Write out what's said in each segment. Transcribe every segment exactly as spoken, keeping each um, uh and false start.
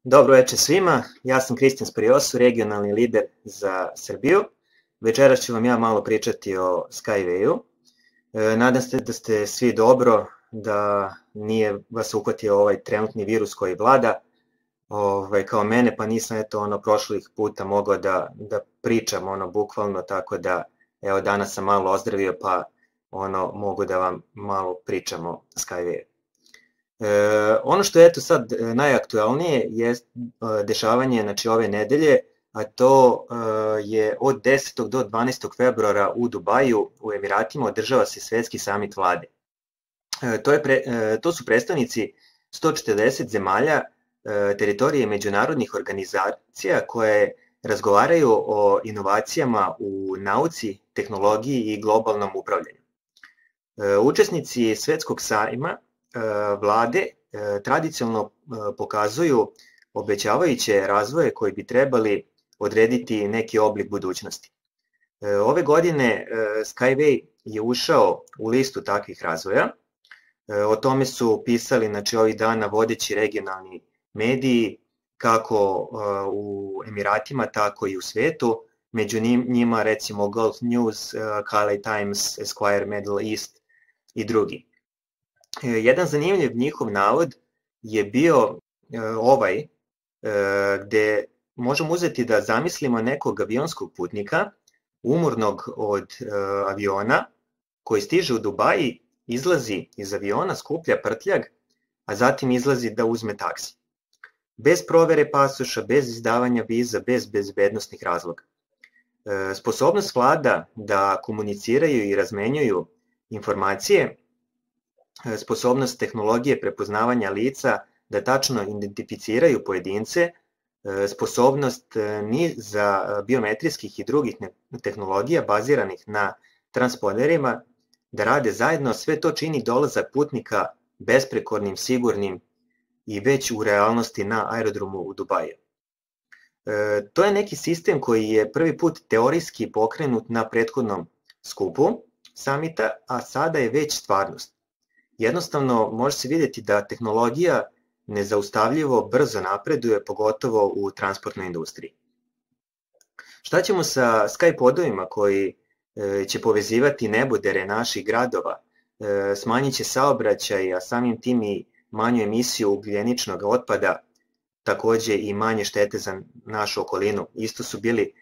Dobro večer svima, ja sam Kristijan Spariosu, regionalni lider za Srbiju. Večeras ću vam ja malo pričati o Skywayu. E, nadam se da ste svi dobro, da nije vas uhvatio ovaj trenutni virus koji vlada ovaj, kao mene, pa nisam eto ono prošlih puta mogao da, da pričam ono bukvalno, tako da evo danas sam malo ozdravio pa ono mogu da vam malo pričam o Skywayu. E, ono što je eto sad najaktualnije je e, dešavanje znači, ove nedelje, a to e, je od desetog do dvanaestog februara u Dubaju u Emiratima održava se svetski samit vlade. E, to, je pre, e, to su predstavnici sto četrdeset zemalja e, teritorije međunarodnih organizacija koje razgovaraju o inovacijama u nauci, tehnologiji i globalnom upravljanju. E, učesnici svetskog sajma vlade tradicionalno pokazuju obećavajuće razvoje koji bi trebali odrediti neki oblik budućnosti. Ove godine Skyway je ušao u listu takvih razvoja. O tome su pisali znači, ovih dana vodeći regionalni mediji kako u Emiratima, tako i u svetu. Među njima recimo Gulf News, Khaleej Times, Esquire Middle East i drugi. Jedan zanimljiv njihov navod je bio ovaj, gde možemo uzeti da zamislimo nekog avionskog putnika, umornog od aviona, koji stiže u Dubaji, izlazi iz aviona, skuplja prtljag, a zatim izlazi da uzme taksi. Bez provere pasoša, bez izdavanja viza, bez bezbednosnih razloga. Sposobnost vlada da komuniciraju i razmenjuju informacije, sposobnost tehnologije prepoznavanja lica da tačno identificiraju pojedince, sposobnost niza biometrijskih i drugih tehnologija baziranih na transponderima da rade zajedno, sve to čini dolazak putnika besprekornim, sigurnim i već u realnosti na aerodromu u Dubaju. To je neki sistem koji je prvi put teorijski pokrenut na prethodnom skupu samita, a sada je već stvarnost. Jednostavno može se vidjeti da tehnologija nezaustavljivo brzo napreduje, pogotovo u transportnoj industriji. Šta ćemo sa Skypodovima koji će povezivati nebodere naših gradova, smanjit će saobraćaj, a samim tim i manju emisiju ugljeničnog otpada, takođe i manje štete za našu okolinu. Isto su bili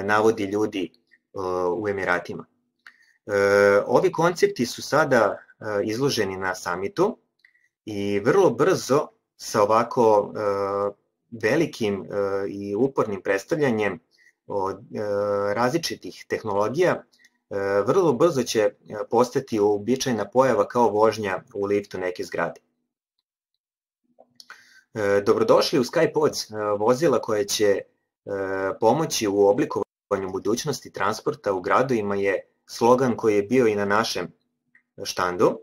navodi ljudi u Emiratima. Ovi koncepti su sada izloženi na samitu i vrlo brzo sa ovako velikim i upornim predstavljanjem od različitih tehnologija vrlo brzo će postati uobičajena pojava kao vožnja u liftu neke zgrade. Dobrodošli u Skypods, vozila koje će pomoći u oblikovanju budućnosti transporta u gradovima je slogan koji je bio i na našem štandu.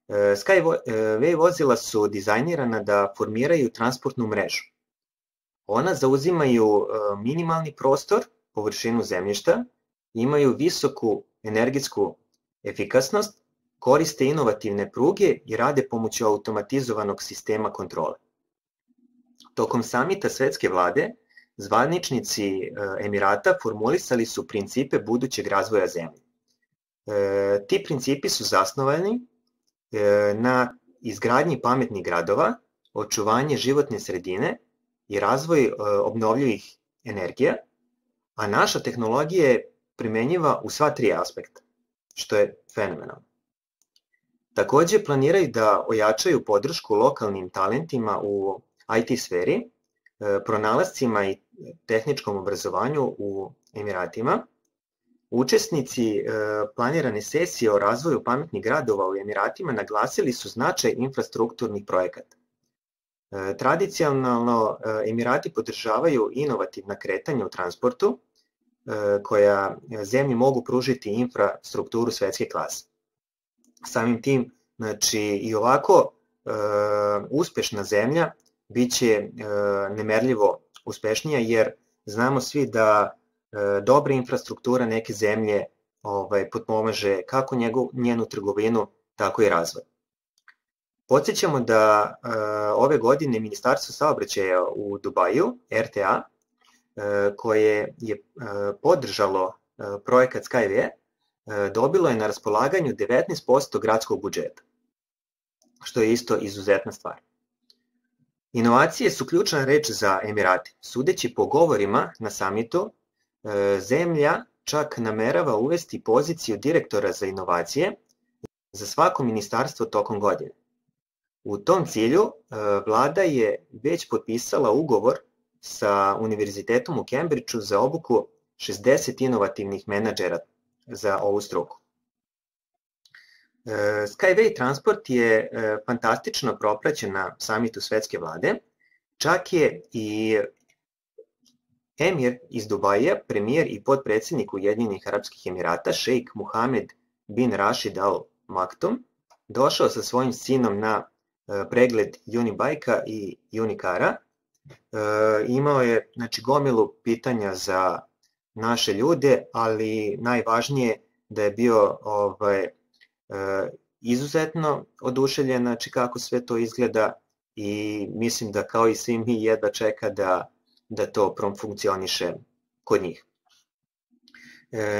Skyway vozila su dizajnirana da formiraju transportnu mrežu. Ona zauzimaju minimalni prostor, površinu zemljišta, imaju visoku energetsku efikasnost, koriste inovativne pruge i rade pomoću automatizovanog sistema kontrole. Tokom samita svetske vlade, zvaničnici Emirata formulisali su principe budućeg razvoja zemlje. E, ti principi su zasnovani e, na izgradnji pametnih gradova, očuvanje životne sredine i razvoj e, obnovljivih energija, a naša tehnologija je primenjiva u sva tri aspekta, što je fenomenalno. Takođe planiraju da ojačaju podršku lokalnim talentima u I T sferi, e, pronalascima i tehničkom obrazovanju u Emiratima. Učesnici planirane sesije o razvoju pametnih gradova u Emiratima naglasili su značaj infrastrukturnih projekata. Tradicionalno Emirati podržavaju inovativna kretanja u transportu koja zemlji mogu pružiti infrastrukturu svetske klase. Samim tim, znači i ovako uspešna zemlja biće nemerljivo uspešnija jer znamo svi da dobra infrastruktura neke zemlje ovaj, potpomaže kako njegu, njenu trgovinu, tako i razvoj. Podsjećamo da ove godine Ministarstvo saobraćaja u Dubaju, R T A, koje je podržalo projekat Skyway, dobilo je na raspolaganju devetnaest posto gradskog budžeta, što je isto izuzetna stvar. Inovacije su ključna reč za Emirate. Sudeći po govorima na samitu, zemlja čak namerava uvesti poziciju direktora za inovacije za svako ministarstvo tokom godine. U tom cilju, vlada je već potpisala ugovor sa Univerzitetom u Cambridgeu za obuku šezdeset inovativnih menadžera za ovu struku. Skyway transport je fantastično propraćen na samitu svetske vlade, čak je i emir iz Dubaja, premijer i potpredsjednik Ujedinjenih Arapskih Emirata, šejk Muhamed bin Rashid Al Maktoum, došao sa svojim sinom na pregled Unibike-a i Unikara. Imao je znači, gomilu pitanja za naše ljude, ali najvažnije da je bio ovaj, izuzetno oduševljen znači, kako sve to izgleda i mislim da kao i svi mi jedva čeka da, da to profunkcioniše kod njih.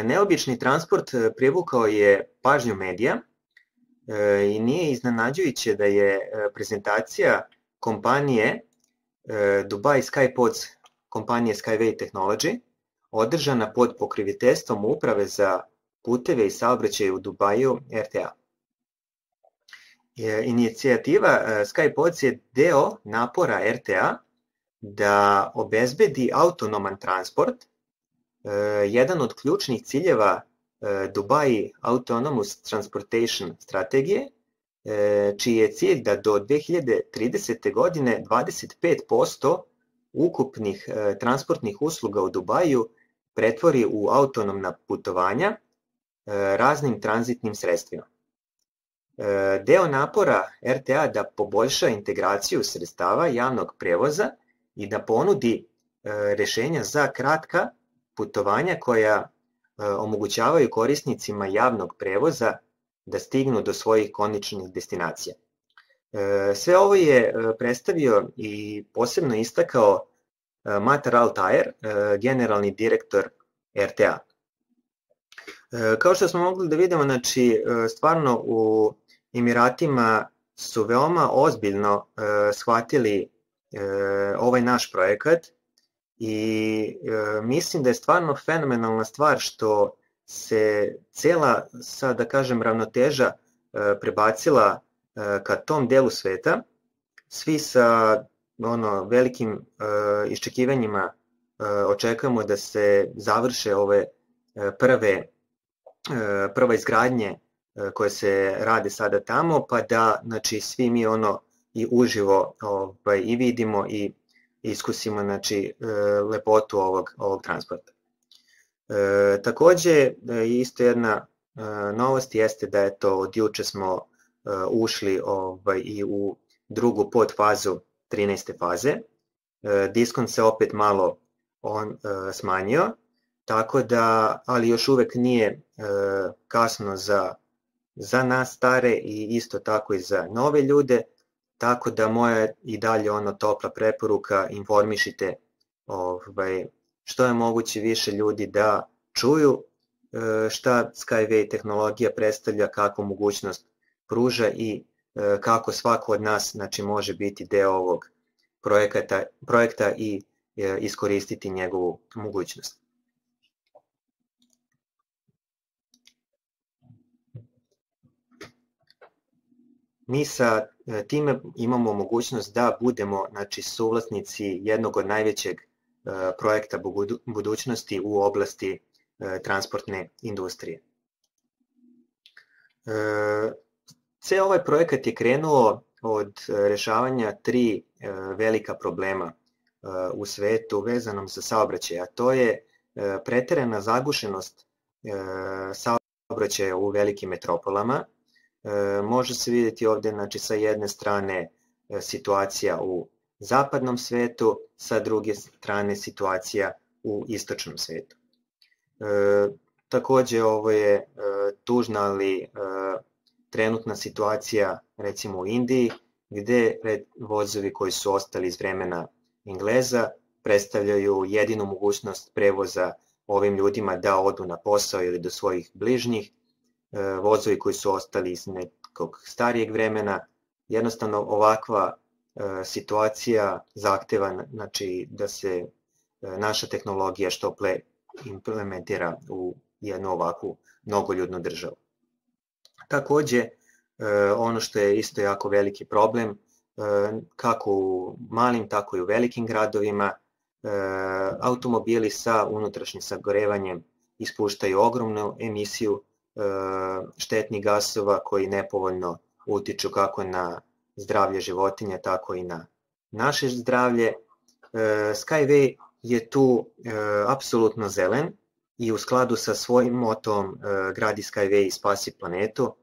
Neobični transport privukao je pažnju medija i nije iznenađujuće da je prezentacija kompanije Dubai Skypods, kompanije Skyway Technology, održana pod pokroviteljstvom Uprave za puteve i saobraćaj u Dubaju R T A. Inicijativa Skypods je deo napora R T A da obezbedi autonoman transport, jedan od ključnih ciljeva Dubai Autonomous Transportation strategije, čiji je cilj da do dve hiljade tridesete. godine dvadeset pet posto ukupnih transportnih usluga u Dubaju pretvori u autonomna putovanja raznim tranzitnim sredstvima. Deo napora R T A da poboljša integraciju sredstava javnog prevoza i da ponudi rešenja za kratka putovanja koja omogućavaju korisnicima javnog prevoza da stignu do svojih konačnih destinacija. Sve ovo je predstavio i posebno istakao Matar Al-Tayer, generalni direktor R T A. Kao što smo mogli da vidimo, znači, stvarno u Emiratima su veoma ozbiljno shvatili ovaj naš projekat i mislim da je stvarno fenomenalna stvar što se cela, sad da kažem, ravnoteža prebacila ka tom delu sveta, svi sa ono, velikim iščekivanjima očekujemo da se završe ove prve, prva izgradnje koje se rade sada tamo, pa da znači, svi mi ono i uživo ovaj, i vidimo i iskusimo znači, lepotu ovog, ovog transporta. E, takođe, isto jedna e, novost jeste da eto, od juče smo e, ušli ovaj, i u drugu podfazu trinaeste faze. E, diskont se opet malo on e, smanjio, tako da, ali još uvek nije e, kasno za, za nas stare i isto tako i za nove ljude, tako da moja i dalje ono topla preporuka, informišite ovaj, što je moguće više ljudi da čuju šta Skyway tehnologija predstavlja, kakvu mogućnost pruža i kako svako od nas znači, može biti deo ovog projekta, projekta i iskoristiti njegovu mogućnost. Mi sa time imamo mogućnost da budemo znači, suvlasnici jednog od najvećeg projekta budućnosti u oblasti transportne industrije. Ceo ovaj projekat je krenuo od rešavanja tri velika problema u svetu vezanom za saobraćaj, a to je preterana zagušenost saobraćaja u velikim metropolama. Može se vidjeti ovde znači, sa jedne strane situacija u zapadnom svetu, sa druge strane situacija u istočnom svetu. E, takođe ovo je e, tužna, ali e, trenutna situacija recimo u Indiji, gde vozovi koji su ostali iz vremena Engleza predstavljaju jedinu mogućnost prevoza ovim ljudima da odu na posao ili do svojih bližnjih. Vozovi koji su ostali iz nekog starijeg vremena, jednostavno ovakva situacija zahteva, znači, da se naša tehnologija što pre implementira u jednu ovakvu mnogoljudnu državu. Takođe, ono što je isto jako veliki problem, kako u malim, tako i u velikim gradovima, automobili sa unutrašnjim sagorevanjem ispuštaju ogromnu emisiju štetnih gasova koji nepovoljno utiču kako na zdravlje životinja, tako i na naše zdravlje. Skyway je tu apsolutno zelen i u skladu sa svojim motom gradi Skyway i spasi planetu.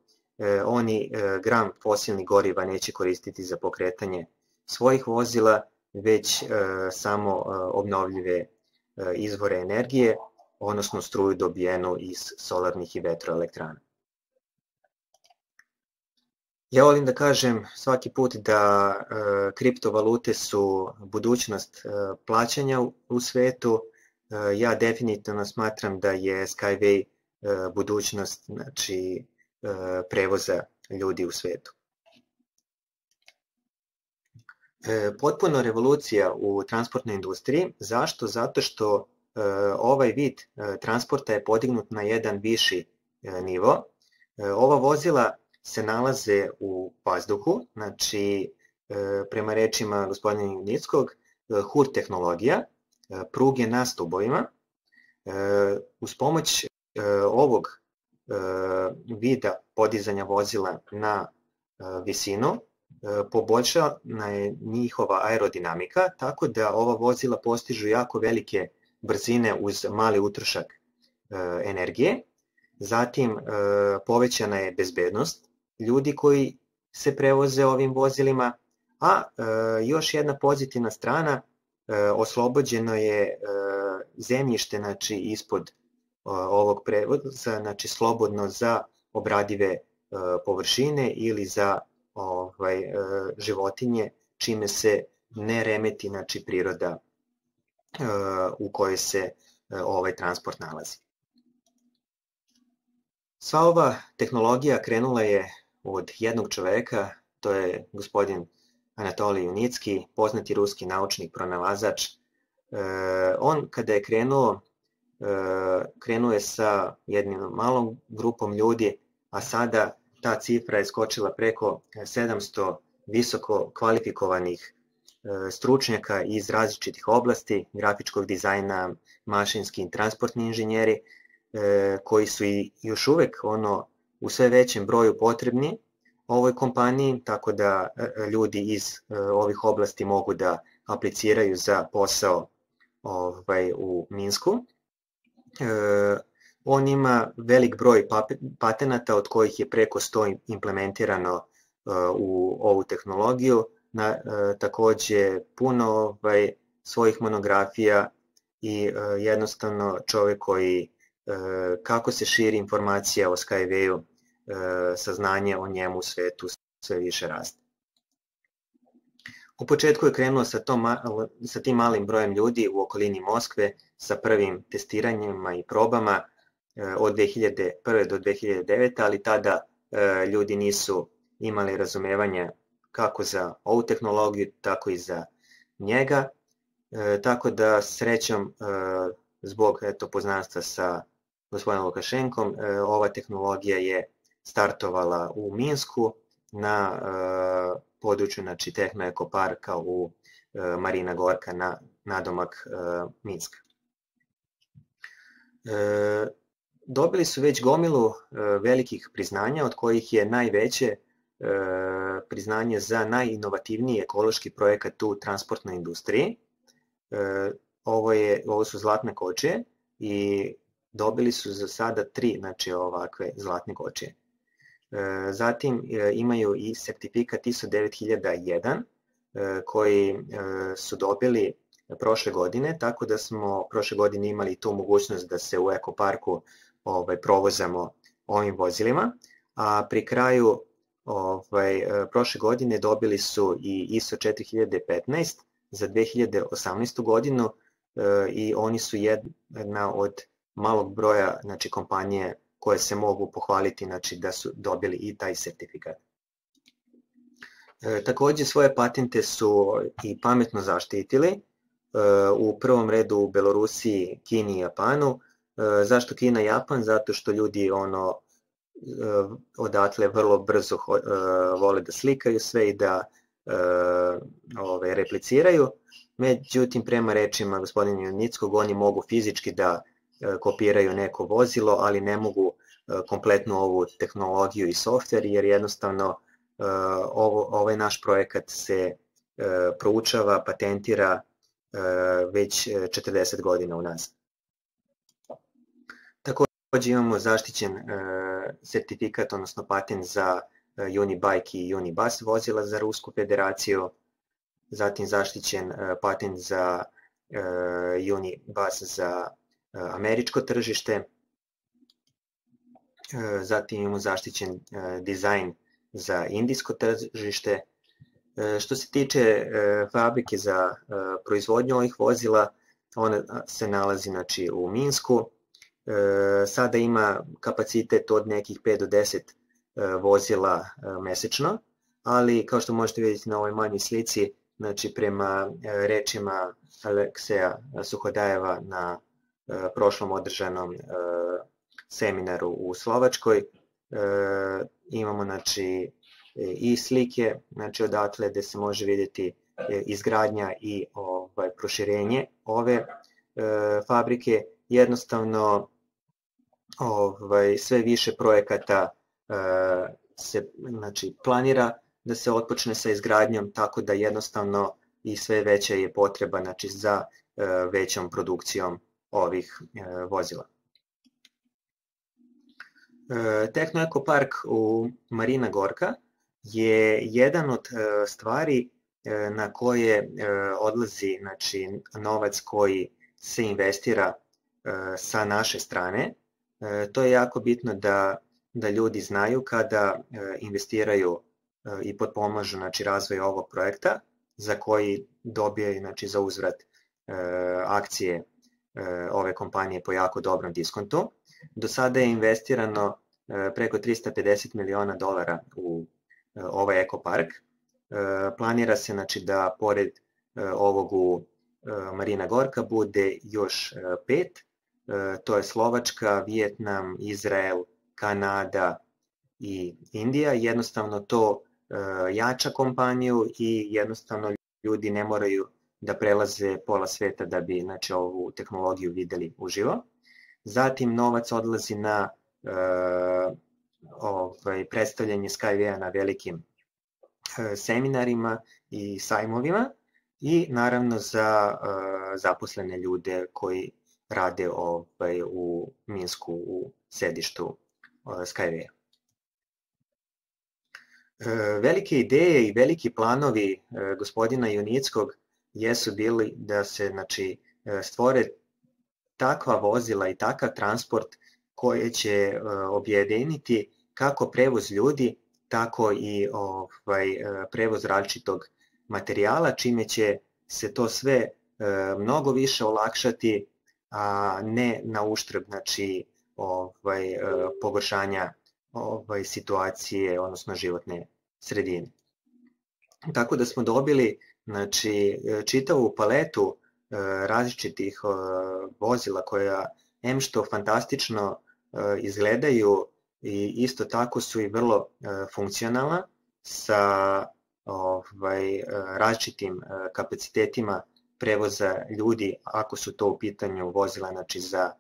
Oni gram fosilnih goriva neće koristiti za pokretanje svojih vozila, već samo obnovljive izvore energije, odnosno struju dobijenu iz solarnih i vetroelektrana. Ja volim da kažem svaki put da kriptovalute su budućnost plaćanja u svetu. Ja definitivno smatram da je Skyway budućnost, znači, prevoza ljudi u svetu. Potpuno revolucija u transportnoj industriji. Zašto? Zato što ovaj vid transporta je podignut na jedan viši nivo. Ova vozila se nalaze u vazduhu, znači prema rečima gospodina Nickog, H U R tehnologija, pruge na stubovima. Uz pomoć ovog vida podizanja vozila na visinu poboljšana je njihova aerodinamika, tako da ova vozila postižu jako velike brzine uz mali utrošak energije. Zatim povećana je bezbednost ljudi koji se prevoze ovim vozilima, a još jedna pozitivna strana, oslobođeno je zemljište, znači, ispod ovog prevoza, znači slobodno za obradive površine ili za ovaj, životinje, čime se ne remeti, znači, priroda u kojoj se ovaj transport nalazi. Sva ova tehnologija krenula je od jednog čoveka, to je gospodin Anatolij Junicki, poznati ruski naučnik, pronalazač. On kada je krenuo, krenuo je sa jednim malom grupom ljudi, a sada ta cifra je skočila preko sedamsto visoko kvalifikovanih stručnjaka iz različitih oblasti, grafičkog dizajna, mašinski i transportni inženjeri, koji su i još uvek ono, u sve većem broju potrebni ovoj kompaniji, tako da ljudi iz ovih oblasti mogu da apliciraju za posao ovaj, u Minsku. On ima velik broj patenata, od kojih je preko sto implementirano u ovu tehnologiju, na, takođe puno ovaj, svojih monografija i jednostavno čovek koji kako se širi informacija o Skywayu, saznanje o njemu u svetu sve više raste. U početku je krenuo sa, tom, sa tim malim brojem ljudi u okolini Moskve sa prvim testiranjima i probama od dve hiljade prve do dve hiljade devete. ali tada ljudi nisu imali razumevanja kako za ovu tehnologiju, tako i za njega. Tako da srećom, zbog eto, poznanstva sa gospodinom Lukašenkom, ova tehnologija je startovala u Minsku na području, znači, Tehno-ekoparka u Marina Gorka na nadomak Minska. Dobili su već gomilu velikih priznanja, od kojih je najveće priznanje za najinovativniji ekološki projekat u transportnoj industriji. Ovo, je, ovo su zlatne kočije i dobili su za sada tri, znači, ovakve zlatne kočije. Zatim imaju i sertifikat I S O devet hiljada jedan koji su dobili prošle godine, tako da smo prošle godine imali tu mogućnost da se u ekoparku ovaj, provozamo ovim vozilima, a pri kraju ovaj, prošle godine dobili su i I S O četiri hiljade petnaest za dve hiljade osamnaestu godinu i oni su jedna od malog broja, znači, kompanije koje se mogu pohvaliti, znači, da su dobili i taj sertifikat. E, takođe svoje patente su i pametno zaštitili, e, u prvom redu u Belorusiji, Kini i Japanu. E, zašto Kina i Japan? Zato što ljudi ono e, odatle vrlo brzo e, vole da slikaju sve i da e, ove, repliciraju. Međutim, prema rečima gospodina Junickog, oni mogu fizički da e, kopiraju neko vozilo, ali ne mogu e, kompletnu ovu tehnologiju i softver, jer jednostavno Uh, ovo, ovaj naš projekat se uh, proučava, patentira uh, već četrdeset godina unazad. Takođe imamo zaštićen uh, sertifikat, odnosno patent za uh, Unibike i Unibus vozila za Rusku federaciju, zatim zaštićen uh, patent za uh, Unibus za uh, američko tržište, uh, zatim imamo zaštićen uh, dizajn za indijsko tržište. Što se tiče fabrike za proizvodnju ovih vozila, ona se nalazi, znači, u Minsku. Sada ima kapacitet od nekih pet do deset vozila mesečno, ali kao što možete vidjeti na ovoj manjoj slici, znači, prema rečima Alekseja Suhodajeva na prošlom održanom seminaru u Slovačkoj, E, imamo, znači, i slike, znači, odatle gde se može vidjeti izgradnja i ovaj, proširenje ove e, fabrike. Jednostavno, ovaj, sve više projekata e, se, znači, planira da se otpočne sa izgradnjom, tako da jednostavno i sve veća je potreba, znači, za e, većom produkcijom ovih e, vozila. Tehno Eko Park u Marina Gorka je jedan od stvari na koje odlazi, znači, novac koji se investira sa naše strane. To je jako bitno da, da ljudi znaju kada investiraju i potpomažu, znači, razvoj ovog projekta, za koji dobijaju, znači, za uzvrat akcije ove kompanije po jako dobrom diskontu. Do sada je investirano preko trista pedeset miliona dolara u ovaj ekopark. Planira se, znači, da pored ovog u Marina Gorka bude još pet. To je Slovačka, Vijetnam, Izrael, Kanada i Indija. Jednostavno to jača kompaniju i jednostavno ljudi ne moraju da prelaze pola sveta da bi, znači, ovu tehnologiju videli uživo. Zatim novac odlazi na e, ovaj, predstavljanje Skyway-a na velikim e, seminarima i sajmovima i naravno za e, zaposlene ljude koji rade ovaj, u Minsku u sedištu e, Skyway-a. E, velike ideje i veliki planovi e, gospodina Junickog jesu bili da se, znači, stvore takva vozila i takav transport koje će uh, objediniti kako prevoz ljudi, tako i ovaj, prevoz različitog materijala, čime će se to sve uh, mnogo više olakšati, a ne na uštrb, znači, ovaj, uh, pogoršanja ovaj, situacije, odnosno životne sredine. Tako da smo dobili, znači, čitavu paletu različitih vozila koja em što fantastično izgledaju i isto tako su i vrlo funkcionalna sa ovaj, različitim kapacitetima prevoza ljudi, ako su to u pitanju vozila, znači, za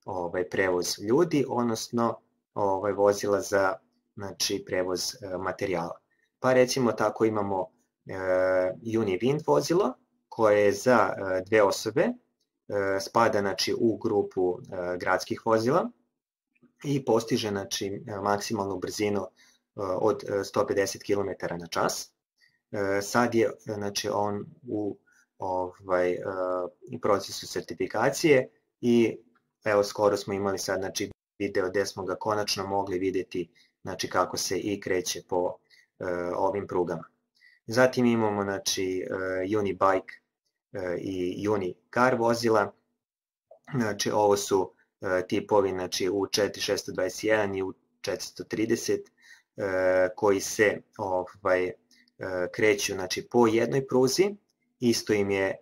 ovaj, prevoz ljudi, odnosno ovaj, vozila za, znači, prevoz materijala. Pa recimo tako imamo uh, Univind vozilo koje je za uh, dve osobe, uh, spada, znači, u grupu uh, gradskih vozila i postiže, znači, maksimalnu brzinu uh, od sto pedeset kilometara na čas. Uh, sad je, znači, on u ovaj, uh, procesu sertifikacije i evo skoro smo imali sad, znači, video gde smo ga konačno mogli videti znači kako se i kreće po ovim prugama. Zatim imamo znači Unibike i Unicar vozila, znači ovo su tipovi znači U četiri šest dvadeset jedan i U četiristo trideset koji se ovaj, kreću znači, po jednoj pruzi, isto im je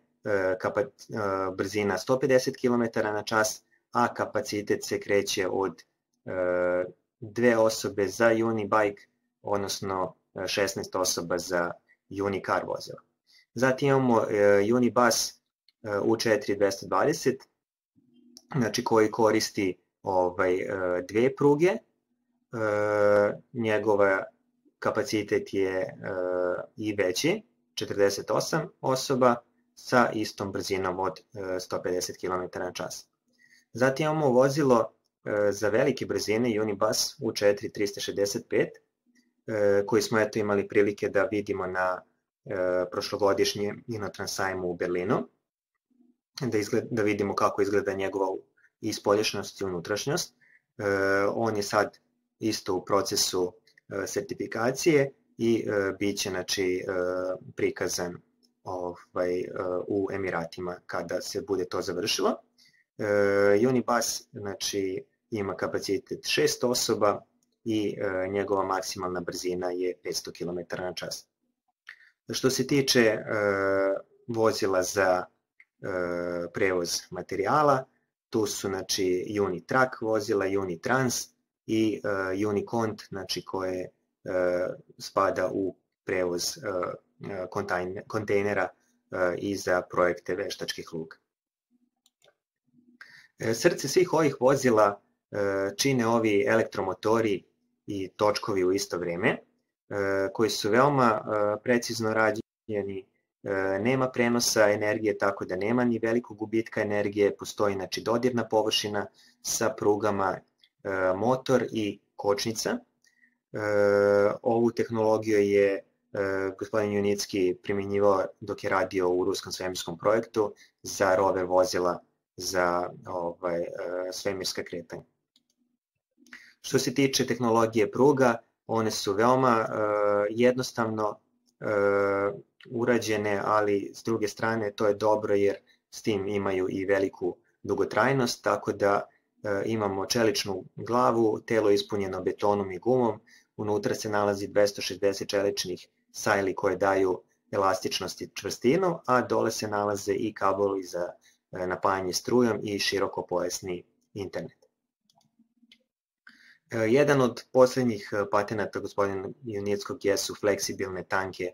brzina sto pedeset kilometara na čas, a kapacitet se kreće od dve osobe za Unibike, odnosno šesnaest osoba za Unicar vozila. Zatim imamo Unibus U četiri dvesta dvadeset, znači koji koristi ovaj, dve pruge, njegova kapacitet je i veći, četrdeset osam osoba sa istom brzinom od sto pedeset kilometara na čas. Zatim imamo vozilo za velike brzine Unibus U četiri trista šezdeset pet, koji smo eto imali prilike da vidimo na prošlogodišnjem Inotrans sajmu u Berlinu, da, izgled, da vidimo kako izgleda njegova i spoljašnjost i unutrašnjost. On je sad isto u procesu sertifikacije i bit će znači, prikazan ovaj, u Emiratima kada se bude to završilo. Unibus znači, ima kapacitet šest osoba i njegova maksimalna brzina je petsto kilometara na čas. Što se tiče vozila za prevoz materijala, tu su znači Unitruck vozila, Unitrans i uh, Unicont, znači koje uh, spada u prevoz uh, kontejnera uh, i za projekte veštačkih luka. Srce svih ovih vozila uh, čine ovi elektromotori i točkovi u isto vreme, uh, koji su veoma uh, precizno rađeni. Nema prenosa energije, tako da nema ni velikog gubitka energije, postoji znači, dodirna površina sa prugama, motor i kočnica. Ovu tehnologiju je gospodin Junicki primjenjivao dok je radio u ruskom svemirskom projektu za rover vozila za ovaj, svemirska kretanja. Što se tiče tehnologije pruga, one su veoma jednostavno urađene, ali s druge strane to je dobro jer s tim imaju i veliku dugotrajnost, tako da e, imamo čeličnu glavu, telo ispunjeno betonom i gumom, unutra se nalazi dvesta šezdeset čeličnih sajli koje daju elastičnost i čvrstinu, a dole se nalaze i kablovi za e, napajanje strujom i širokopojasni internet. E, jedan od poslednjih patenata gospodina Junickog jesu fleksibilne tanke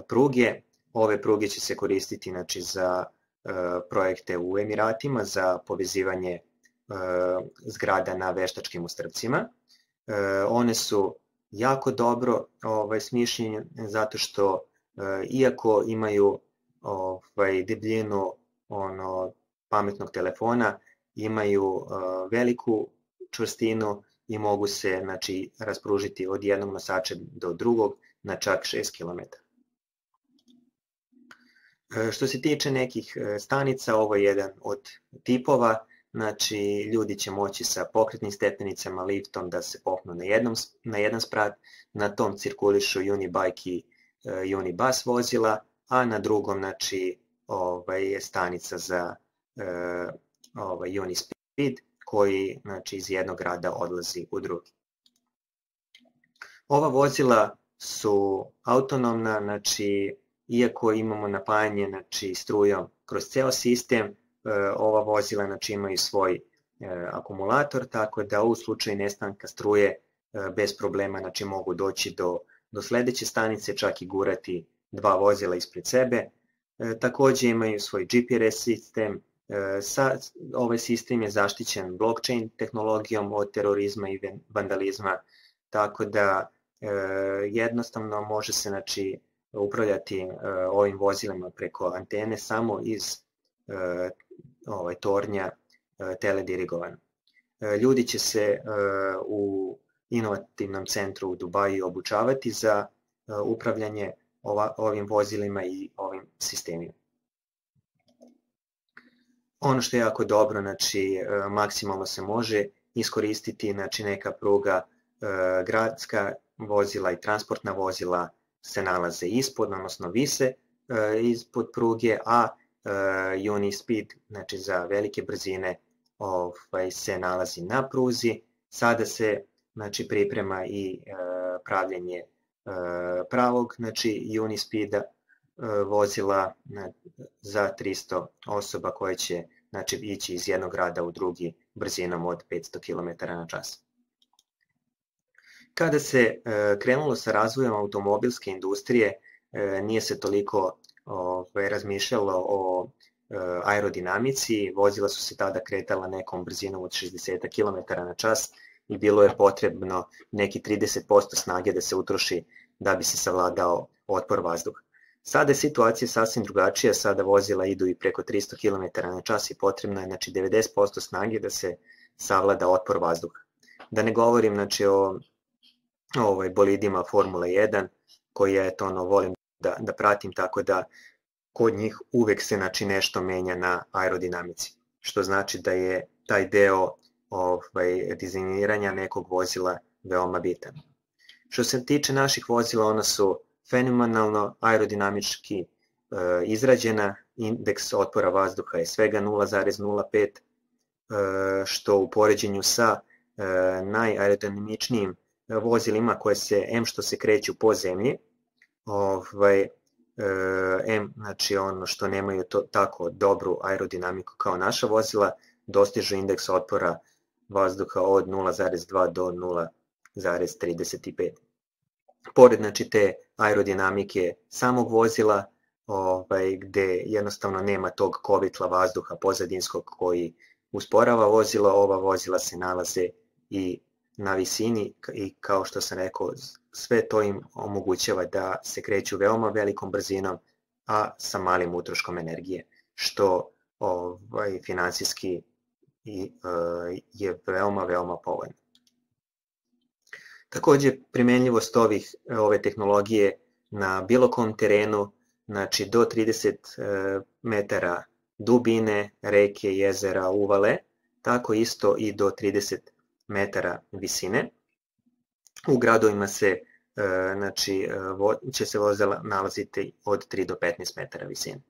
pruge. Ove pruge će se koristiti znači, za e, projekte u Emiratima, za povezivanje e, zgrada na veštačkim ostrvcima. E, one su jako dobro ovaj, smišljene zato što e, iako imaju ovaj, debljinu ono, pametnog telefona, imaju e, veliku čvrstinu i mogu se znači, raspružiti od jednog nosača do drugog na čak šest kilometara. Što se tiče nekih stanica, ovo je jedan od tipova, znači ljudi će moći sa pokretnim stepenicama, liftom da se popnu na, jednom, na jedan sprat, na tom cirkulišu Unibike i uh, Unibus vozila, a na drugom znači, ovaj, je stanica za uh, ovaj, Unispeed koji znači, iz jednog grada odlazi u drugi. Ova vozila su autonomna, znači iako imamo napajanje znači, strujom kroz ceo sistem, ova vozila znači, imaju svoj akumulator, tako da u slučaju nestanka struje bez problema znači, mogu doći do, do sledeće stanice, čak i gurati dva vozila ispred sebe. Takođe imaju svoj G P R S sistem, sa, ovaj sistem je zaštićen blockchain tehnologijom od terorizma i vandalizma, tako da jednostavno može se znači, upravljati uh, ovim vozilima preko antene samo iz uh, ovaj, tornja uh, teledirigovano. Uh, ljudi će se uh, u inovativnom centru u Dubaju obučavati za uh, upravljanje ova, ovim vozilima i ovim sistemima. Ono što je jako dobro, znači uh, maksimalno se može iskoristiti znači, neka pruga gradska vozila i transportna vozila se nalaze ispod, odnosno vise ispod pruge, a Unispeed, znači za velike brzine, ovaj, se nalazi na pruzi. Sada se znači, priprema i pravljenje pravog znači, Unispeeda vozila za tristo osoba koje će znači, ići iz jednog grada u drugi brzinom od petsto kilometara na čas. Kada se krenulo sa razvojem automobilske industrije, nije se toliko ovaj, razmišljalo o aerodinamici, vozila su se tada kretala nekom brzinom od šezdeset kilometara na čas i bilo je potrebno neki trideset posto snage da se utroši da bi se savladao otpor vazduha. Sada je situacija sasvim drugačija, sada vozila idu i preko tristo kilometara na čas i potrebno je znači, devedeset posto snage da se savlada otpor vazduha. Da ne govorim znači, o ovaj, bolidima Formule jedan, koji je, eto, ono, volim da, da pratim, tako da kod njih uvek se znači, nešto menja na aerodinamici, što znači da je taj deo ovaj, dizajniranja nekog vozila veoma bitan. Što se tiče naših vozila, ona su fenomenalno aerodinamički e, izrađena, indeks otpora vazduha je svega nula zarez nula pet, e, što u poređenju sa e, najaerodinamičnijim vozilima koje se, em što se kreću po zemlji, ovaj, em znači ono što nemaju to, tako dobru aerodinamiku kao naša vozila, dostižu indeks otpora vazduha od nula zarez dva do nula zarez trideset pet. Pored znači, te aerodinamike samog vozila, ovaj, gde jednostavno nema tog kovitla vazduha pozadinskog koji usporava vozilo, ova vozila se nalaze i na visini i kao što sam rekao, sve to im omogućava da se kreću veoma velikom brzinom, a sa malim utroškom energije, što ovaj, finansijski i, uh, je veoma, veoma povoljno. Takođe, primenljivost ovih, ove tehnologije na bilo kom terenu, znači do trideset metara dubine, reke, jezera, uvale, tako isto i do trideset metara visine. U gradovima se, znači, će se vozila nalaziti od tri do petnaest metara visine.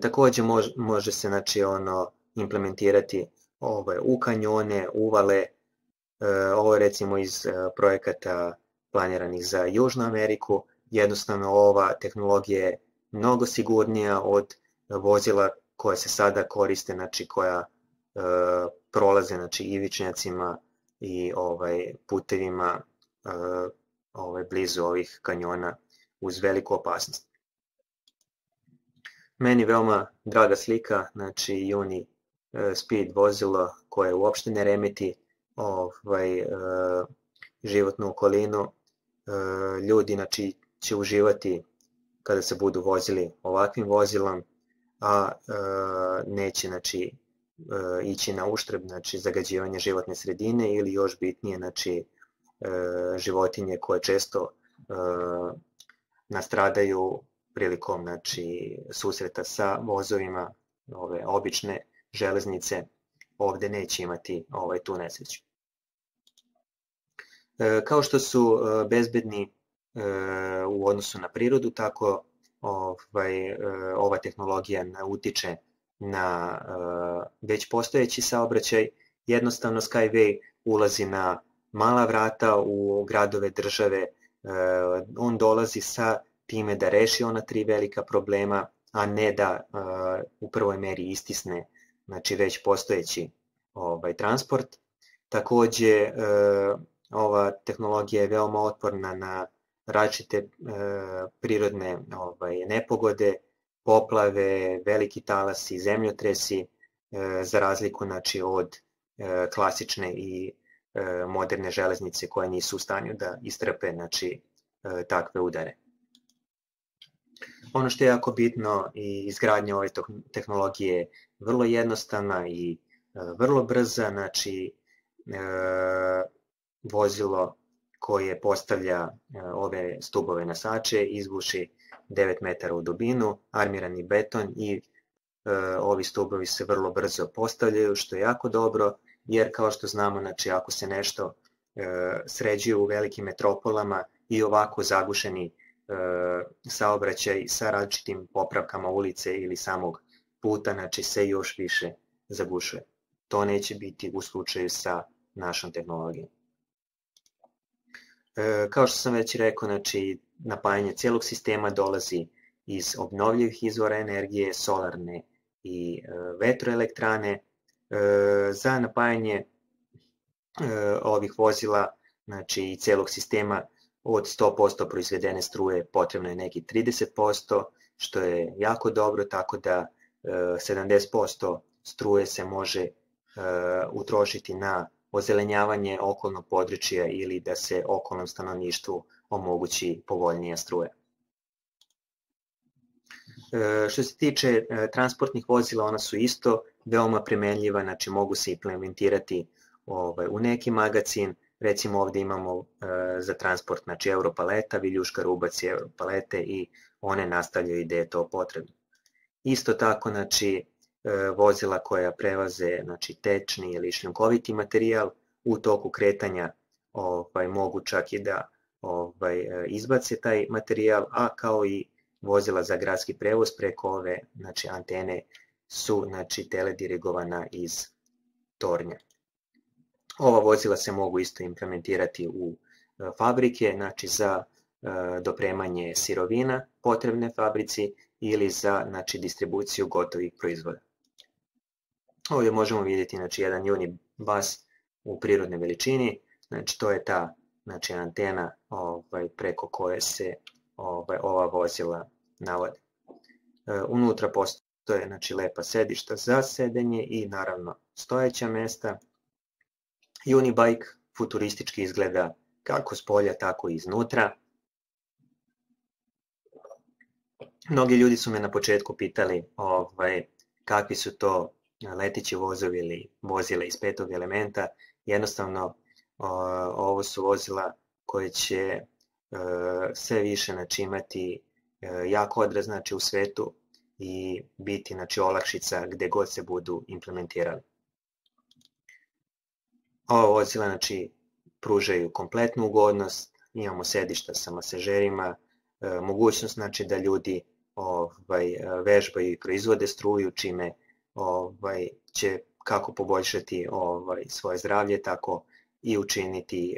Takođe može, može se znači, ono, implementirati ove, u kanjone, uvale. Ovo je recimo iz projekata planiranih za Južnu Ameriku. Jednostavno ova tehnologija je mnogo sigurnija od vozila koja se sada koriste, znači koja e, prolaze znači, ivičnjacima i ovaj, putevima e, ovaj, blizu ovih kanjona uz veliku opasnost. Meni veoma draga slika, znači Unispeed vozilo koje uopšte ne remeti ovaj, e, životnu okolinu. E, ljudi znači, će uživati kada se budu vozili ovakvim vozilom, a e, neće znači, e, ići na uštrb znači, zagađivanja životne sredine ili još bitnije znači, e, životinje koje često e, nastradaju prilikom znači, susreta sa vozovima, ove obične železnice, ovde neće imati ovaj, tu nesreću. E, kao što su e, bezbedni e, u odnosu na prirodu, tako ovaj, e, ova tehnologija utiče na e, već postojeći saobraćaj. Jednostavno Skyway ulazi na mala vrata u gradove, države, e, on dolazi sa time da reši ona tri velika problema, a ne da e, u prvoj meri istisne znači već postojeći ovaj, transport. Takođe, e, ova tehnologija je veoma otporna na različite e, prirodne ovaj, nepogode, poplave, veliki talasi, zemljotresi, e, za razliku znači, od e, klasične i e, moderne železnice koje nisu u stanju da istrpe znači, e, takve udare. Ono što je jako bitno, i izgradnja ove tehnologije je vrlo jednostavna i vrlo brza, znači e, vozilo koje postavlja e, ove stubove nosače izbuši devet metara u dubinu, armirani beton i e, ovi stubovi se vrlo brzo postavljaju, što je jako dobro, jer kao što znamo, znači ako se nešto sređuju u velikim metropolama i ovako zagušeni saobraćaj sa različitim popravkama ulice ili samog puta, znači se još više zagušuje. To neće biti u slučaju sa našom tehnologijom. Kao što sam već rekao, znači napajanje cijelog sistema dolazi iz obnovljivih izvora energije, solarne i vetroelektrane. Za napajanje ovih vozila, znači i cijelog sistema, od sto posto proizvedene struje potrebno je neki trideset posto, što je jako dobro, tako da sedamdeset posto struje se može utrošiti na ozelenjavanje okolnog područja ili da se okolnom stanovništvu omogući povoljnija struja. Što se tiče transportnih vozila, ona su isto veoma primenljiva, znači mogu se implementirati u neki magacin. Recimo ovdje imamo za transport, znači Europaleta, viljuškar ubaci Europalete i one nastavljaju gde je to potrebno. Isto tako, znači, vozila koja prevaze, znači, tečni ili šljunkoviti materijal u toku kretanja ovaj, mogu čak i da ovaj, izbace taj materijal, a kao i vozila za gradski prevoz preko ove, znači, antene su, znači, teledirigovana iz tornja. Ova vozila se mogu isto implementirati u fabrike, znači za dopremanje sirovina potrebne fabrici ili za, znači, distribuciju gotovih proizvoda. Ovdje možemo vidjeti, znači, jedan unibus u prirodnoj veličini, znači to je ta, znači, antena ovaj, preko koje se ovaj, ova vozila navode. Unutra postoje, znači, lepa sedišta za sedenje i naravno stojeća mesta. Unibike futuristički izgleda kako s polja, tako i iznutra. Mnogi ljudi su me na početku pitali ovaj, kakvi su to letići vozovi ili vozila iz petog elementa. Jednostavno, ovo su vozila koje će sve više, znači, imati jak odraz, znači, u svetu i biti, znači, olakšica gde god se budu implementirali. Ova vozila, znači, pružaju kompletnu ugodnost, imamo sedišta sa masažerima, mogućnost, znači, da ljudi ovaj, vežbaju i proizvode struju, čime ovaj, će kako poboljšati ovaj, svoje zdravlje, tako i učiniti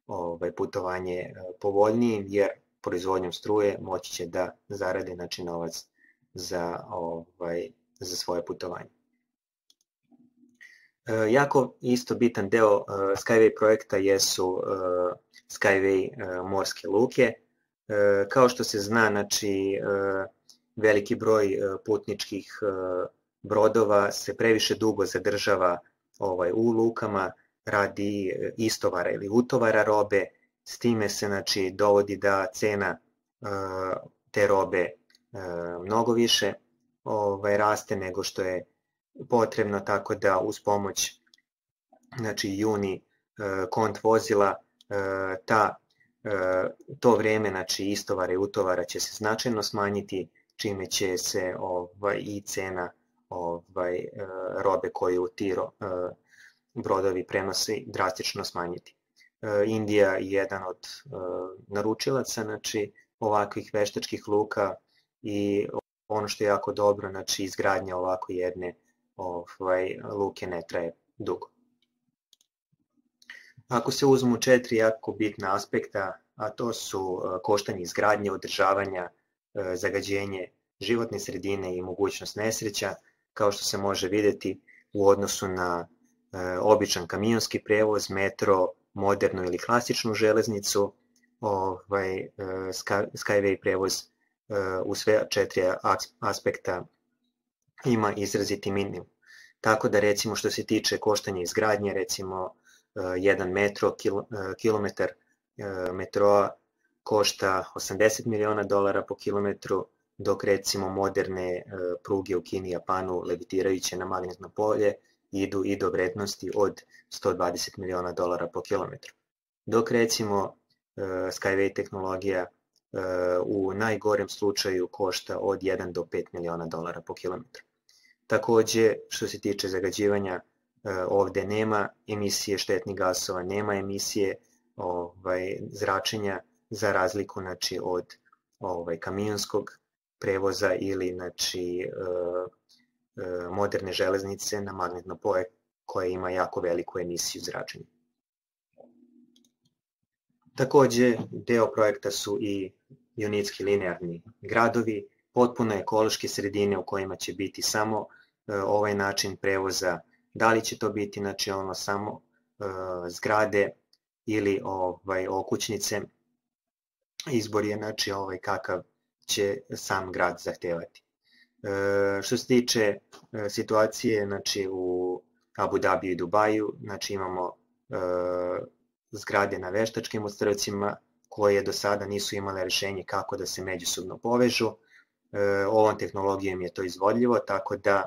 ovaj, putovanje povoljnijim, jer proizvodnjom struje moći će da zarade, znači, novac za, ovaj, za svoje putovanje. Jako isto bitan deo Skyway projekta jesu Skyway morske luke. Kao što se zna, znači, veliki broj putničkih brodova se previše dugo zadržava ovaj, u lukama radi istovara ili utovara robe. S time se, znači, dovodi da cena te robe mnogo više ovaj, raste nego što je potrebno, tako da uz pomoć, znači, Uni kont vozila ta, to vreme, znači, istovara i utovara će se značajno smanjiti, čime će se ovaj, i cena ovaj, robe koju ti brodovi prenose drastično smanjiti. Indija je jedan od naručilaca, znači, ovakvih veštačkih luka i ono što je jako dobro, znači, izgradnja ovako jedne ovaj, luke ne traje dugo. Ako se uzmu četiri jako bitna aspekta, a to su koštanje izgradnje, održavanja, zagađenje životne sredine i mogućnost nesreća, kao što se može vidjeti u odnosu na običan kamionski prevoz, metro, modernu ili klasičnu železnicu, ovaj, Skyway prevoz u sve četiri aspekta ima izraziti minimum. Tako da, recimo, što se tiče koštanja izgradnje, recimo jedan metro, kilometar metroa košta osamdeset miliona dolara po kilometru, dok, recimo, moderne pruge u Kini i Japanu, levitirajuće na magnetno polje, idu i do vrednosti od sto dvadeset miliona dolara po kilometru. Dok, recimo, Skyway tehnologija u najgorem slučaju košta od jedan do pet miliona dolara po kilometru. Takođe, što se tiče zagađivanja, ovde nema emisije štetnih gasova, nema emisije ovaj, zračenja za razliku znači, od ovaj, kamionskog prevoza ili znači, moderne železnice na magnetno polje koja ima jako veliku emisiju zračenja. Takođe, deo projekta su i unitski linearni gradovi, potpuno ekološke sredine u kojima će biti samo ovaj način prevoza. Da li će to biti znači, ono, samo zgrade ili ovaj, okućnice, izbor je znači, ovaj, kakav će sam grad zahtevati. E, što se tiče e, situacije znači, u Abu Dabiju i Dubaju, znači imamo e, zgrade na veštačkim ostrvcima koje do sada nisu imale rešenje kako da se međusobno povežu. E, ovom tehnologijom je to izvodljivo, tako da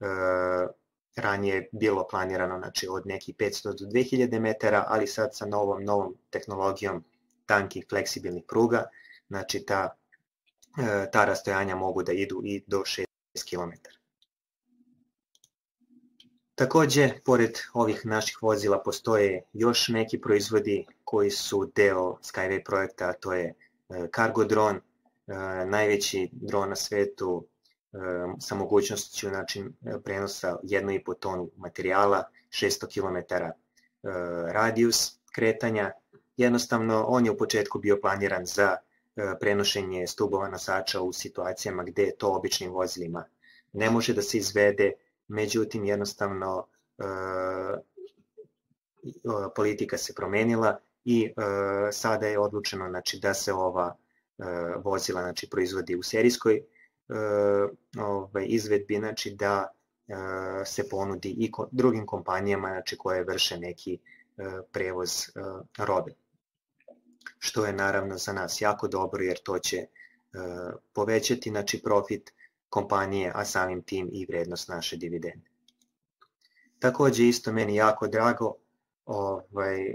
e, ranije je bilo planirano znači, od nekih petsto do dve hiljade metara, ali sad sa novom, novom tehnologijom tankih fleksibilnih pruga, znači ta, ta rastojanja mogu da idu i do šest kilometara. Takođe, pored ovih naših vozila postoje još neki proizvodi koji su deo Skyway projekta, a to je Cargo dron, najveći dron na svetu sa mogućnošću znači, prenosa jednu i po tonu materijala, šesto kilometara radijus kretanja. Jednostavno, on je u početku bio planiran za prenošenje stubova nosača u situacijama gde to običnim vozilima ne može da se izvede, međutim, jednostavno politika se promenila i sada je odlučeno znači, da se ova vozila znači, proizvodi u serijskoj ovaj, izvedbi, znači, da se ponudi i drugim kompanijama znači, koje vrše neki prevoz robe. Što je naravno za nas jako dobro jer to će povećati znači, profit kompanije, a samim tim i vrednost naše dividende. Takođe isto meni jako drago, ovaj,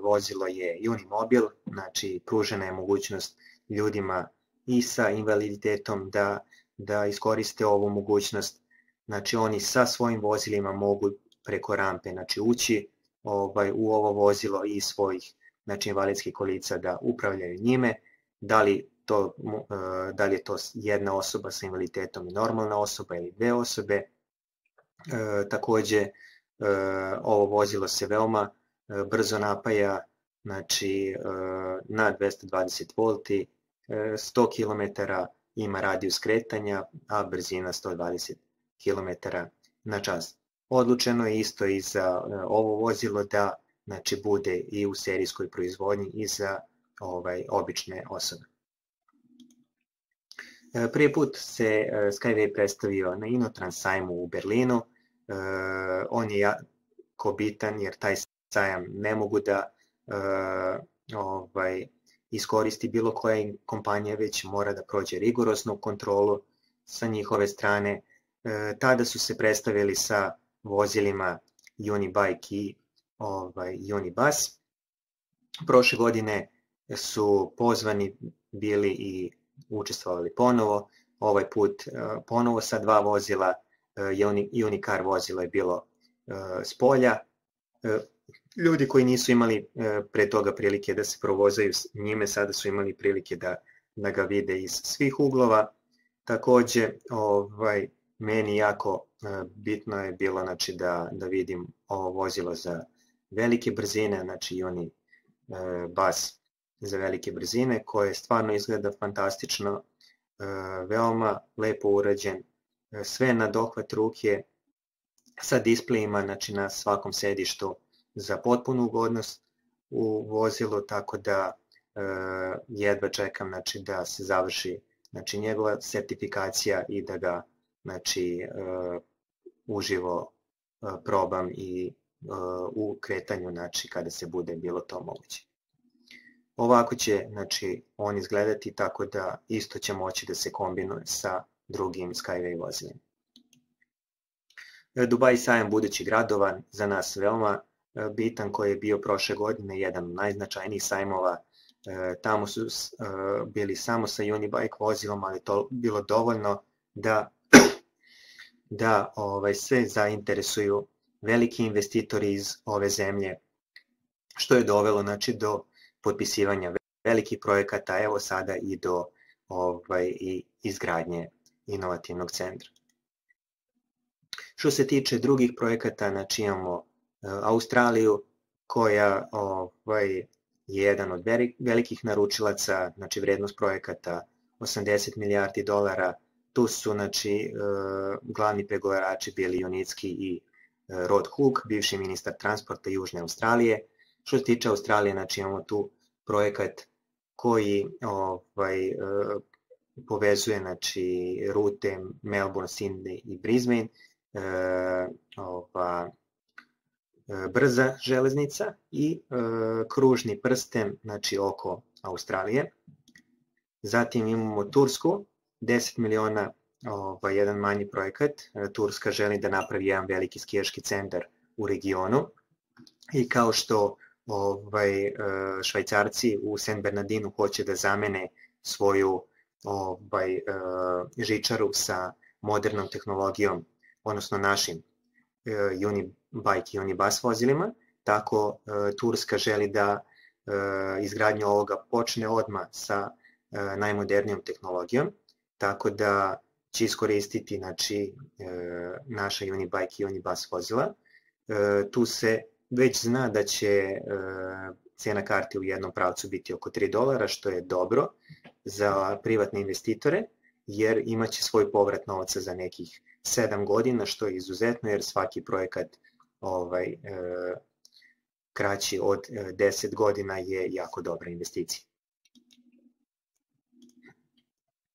vozilo je Unimobil, znači pružena je mogućnost ljudima i sa invaliditetom da, da iskoriste ovu mogućnost. Znači oni sa svojim vozilima mogu preko rampe znači, ući ovaj, u ovo vozilo i svojih znači, invalidskih kolica da upravljaju njime. Da li, to, da li je to jedna osoba sa invaliditetom i normalna osoba ili dve osobe. E, takođe, e, ovo vozilo se veoma e, brzo napaja, znači e, na dvesta dvadeset volti, e, sto kilometara ima radijus kretanja, a brzina sto dvadeset kilometara na čas. Odlučeno je isto i za e, ovo vozilo da znači, bude i u serijskoj proizvodnji i za ovaj, obične osobe. Prvi put se Skyway predstavio na Inotrans sajmu u Berlinu. On je jako bitan jer taj sajam ne mogu da ovaj, iskoristi bilo koja kompanija, već mora da prođe rigoroznu kontrolu sa njihove strane. Tada su se predstavili sa vozilima Unibike i ovaj, Unibus. Prošle godine su pozvani bili i učestvovali ponovo, ovaj put ponovo sa dva vozila, Unicar vozilo je bilo s polja. Ljudi koji nisu imali pre toga prilike da se provozaju s njime, sada su imali prilike da, da ga vide iz svih uglova. Takođe, ovaj, meni jako bitno je bilo znači, da, da vidim ovo vozilo za velike brzine, znači Unibus za velike brzine, koje stvarno izgleda fantastično, veoma lepo urađen, sve na dohvat ruke, sa displejima znači, na svakom sedištu za potpunu ugodnost u vozilu, tako da jedva čekam znači, da se završi znači, njegova sertifikacija i da ga znači, uživo probam i u kretanju znači, kada se bude bilo to moguće. Ovako će znači, on izgledati tako da isto će moći da se kombinuje sa drugim Skyway vozilima. Dubai sajam budućih gradova za nas veoma bitan, koji je bio prošle godine jedan od najznačajnijih sajmova. Tamo su bili samo sa Unibike vozilom, ali to bilo dovoljno da, da ovaj, sve zainteresuju veliki investitori iz ove zemlje, što je dovelo znači, do potpisivanja velikih projekata, evo sada i do ovaj, i izgradnje inovativnog centra. Što se tiče drugih projekata, znači imamo uh, Australiju koja ovaj, je jedan od velikih naručilaca, znači vrednost projekata osamdeset milijardi dolara. Tu su znači, uh, glavni pregovarači bili Junicki i uh, Rod Hook, bivši ministar transporta Južne Australije. Što se tiče Australije, znači imamo tu projekat koji ovaj, uh, povezuje znači, rute Melbourne, Sydney i Brisbane, e, ova, e, brza železnica i e, kružni prsten znači, oko Australije. Zatim imamo Tursku, deset miliona, ovaj, jedan manji projekat. E, Turska želi da napravi jedan veliki skijaški centar u regionu i kao što ovaj, e, Švajcarci u Saint Bernardinu hoće da zamene svoju ovaj, uh, žičaru sa modernom tehnologijom, odnosno našim uh, Unibike i Unibus vozilima, tako uh, Turska želi da uh, izgradnju ovoga počne odmah sa uh, najmodernijom tehnologijom, tako da će iskoristiti znači, uh, naša Unibike i Unibus vozila. Uh, tu se već zna da će uh, cena karte u jednom pravcu biti oko tri dolara, što je dobro za privatne investitore, jer imaće svoj povrat novca za nekih sedam godina, što je izuzetno, jer svaki projekat ovaj, e, kraći od deset godina je jako dobra investicija.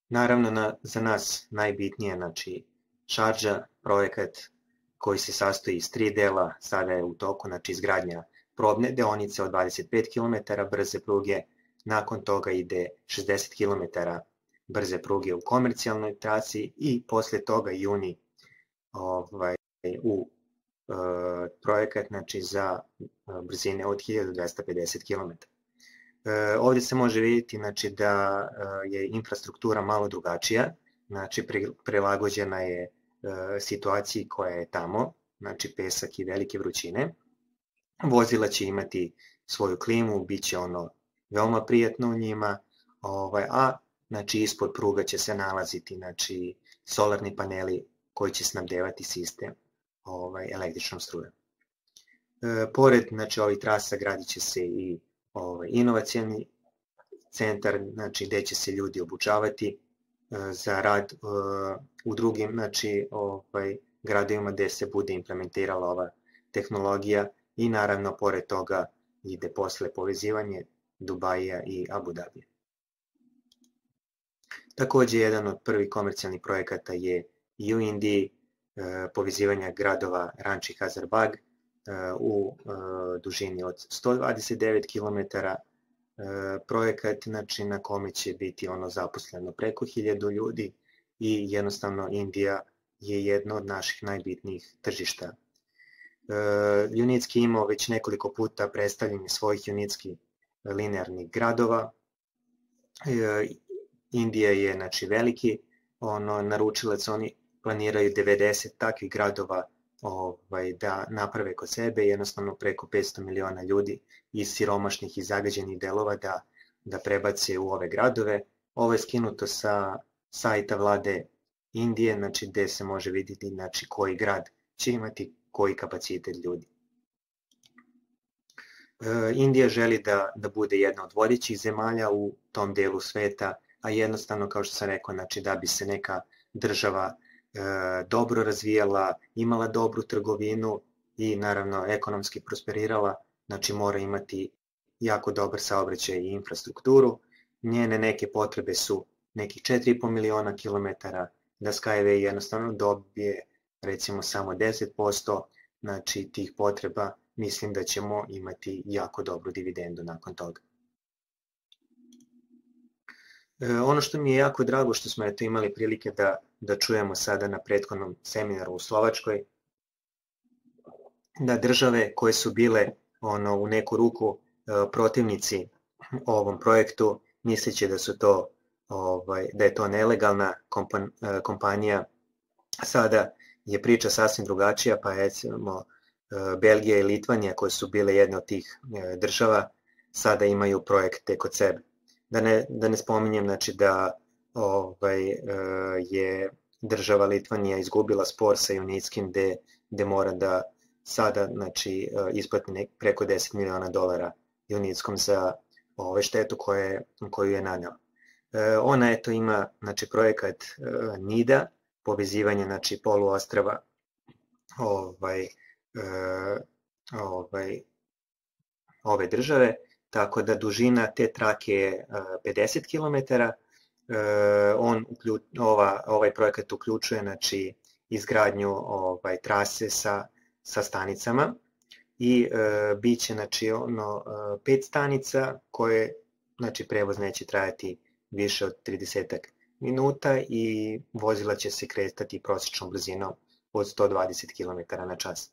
Naravno, na, za nas najbitnije, znači, Šardža, projekat koji se sastoji iz tri dela, sada je u toku, znači, izgradnja probne deonice od dvadeset pet kilometara brze pruge, nakon toga ide šezdeset kilometara brze pruge u komercijalnoj trasi i posle toga juni ovaj, u e, projekat znači, za brzine od hiljadu dvesta pedeset kilometara. E, ovdje se može vidjeti znači, da je infrastruktura malo drugačija, znači prilagođena je e, situaciji koja je tamo, znači pesak i velike vrućine. Vozila će imati svoju klimu, bit će ono veoma prijatno u njima, ovaj, a znači, ispod pruga će se nalaziti znači, solarni paneli koji će snabdevati sistem ovaj, električnom strujom. E, pored znači, ovih trasa gradit će se i ovaj, inovacijni centar, znači, gde će se ljudi obučavati e, za rad e, u drugim znači, ovaj, gradovima gde se bude implementirala ova tehnologija i naravno pored toga ide posle povezivanje Dubaija i Abu Dabija. Takođe, jedan od prvih komercijalnih projekata je i u Indiji e, povezivanja gradova Ranchi i Hazarbag e, u e, dužini od sto dvadeset devet kilometara. E, projekat znači, na kome će biti ono zaposleno preko hiljadu ljudi i jednostavno Indija je jedno od naših najbitnijih tržišta. E, Junicki imao već nekoliko puta predstavljanje svojih Junicki linearnih gradova. E, Indija je znači, veliki ono, naručilac, oni planiraju devedeset takvih gradova ovaj, da naprave kod sebe, jednostavno preko petsto miliona ljudi iz siromašnih i zagađenih delova da, da prebace u ove gradove. Ovo je skinuto sa sajta vlade Indije, znači, gde se može vidjeti znači, koji grad će imati koji kapacitet ljudi. E, Indija želi da, da bude jedna od vodećih zemalja u tom delu sveta, a jednostavno, kao što sam rekao, znači, da bi se neka država e, dobro razvijala, imala dobru trgovinu i naravno ekonomski prosperirala, znači mora imati jako dobar saobraćaj i infrastrukturu. Njene neke potrebe su nekih četiri i po miliona kilometara, da Skyway jednostavno dobije recimo samo deset posto znači, tih potreba, mislim da ćemo imati jako dobru dividendu nakon toga. E, ono što mi je jako drago što smo eto imali prilike da, da čujemo sada na prethodnom seminaru u Slovačkoj, da države koje su bile ono, u neku ruku e, protivnici ovom projektu, misleći da su to ovaj, da je to nelegalna kompan, kompanija, sada je priča sasvim drugačija, pa recimo Belgija i Litvanija, koje su bile jedne od tih država, sada imaju projekte kod sebe. Da ne, da ne spominjem znači, da ovaj, je država Litvanija izgubila spor sa Junitskim gde, gde mora da sada znači, isplati preko deset miliona dolara Junitskom za ove štetu koje, koju je nanela. Ona eto ima znači, projekat NIDA, povezivanje znači, poluostrava ovaj, ovaj, ove države, tako da dužina te trake je pedeset kilometara. On, ova, ovaj projekat uključuje znači, izgradnju ovaj, trase sa, sa stanicama i e, bit će znači, ono, pet stanica koje znači, prevoz neće trajati više od trideset minuta i vozila će se kretati prosječnom brzinom od sto dvadeset kilometara na čas.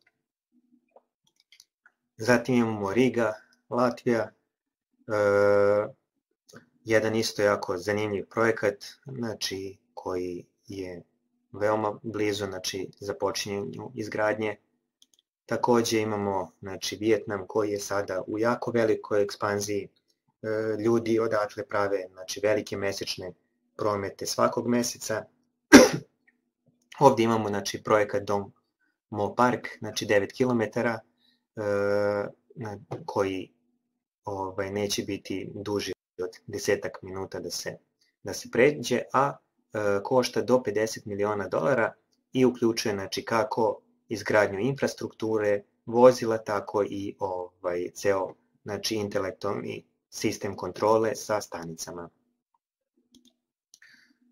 Zatim imamo Riga, Latvija, e, jedan isto jako zanimljiv projekat znači, koji je veoma blizu znači, započinjenju izgradnje. Takođe imamo znači, Vijetnam koji je sada u jako velikoj ekspanziji. E, ljudi odatle prave znači, velike mesečne promete svakog meseca. Ovdje imamo znači, projekat Dom Mo Park, znači devet kilometara, e, koji ovaj, neće biti duži od desetak minuta da se, da se pređe, a e, košta do pedeset miliona dolara i uključuje znači, kako izgradnju infrastrukture, vozila, tako i ovaj, ceo znači, intelektualni sistem kontrole sa stanicama.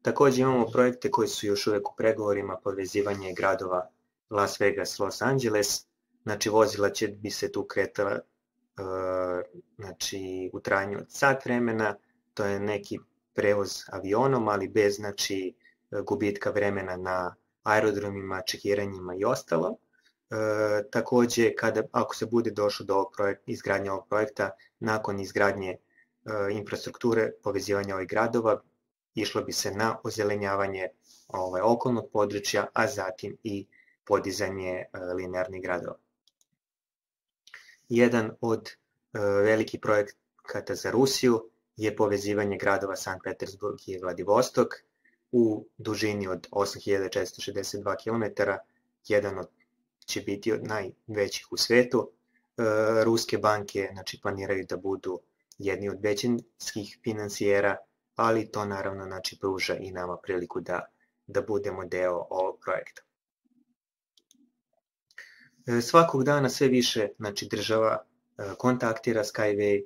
Takođe imamo projekte koji su još uvek u pregovorima, povezivanje gradova Las Vegas, Los Angeles, znači vozila će bi se tu kretala uh, znači, u trajanju od sat vremena, to je neki prevoz avionom, ali bez znači, gubitka vremena na aerodromima, čekiranjima i ostalo. E, takođe, kada, ako se bude došlo do ovog projekta, izgradnje ovog projekta, nakon izgradnje e, infrastrukture, povezivanja ovih gradova, išlo bi se na ozelenjavanje ovaj, okolnog područja, a zatim i podizanje e, linearnih gradova. Jedan od e, velikih projekata za Rusiju je povezivanje gradova Sankt Petersburg i Vladivostok u dužini od osam hiljada četiristo šezdeset dva kilometara, jedan od će biti od najvećih u svetu. E, ruske banke znači, planiraju da budu jedni od većinskih finansijera, ali to naravno znači, pruža i nama priliku da, da budemo deo ovog projekta. E, svakog dana sve više znači, država e, kontaktira Skyway,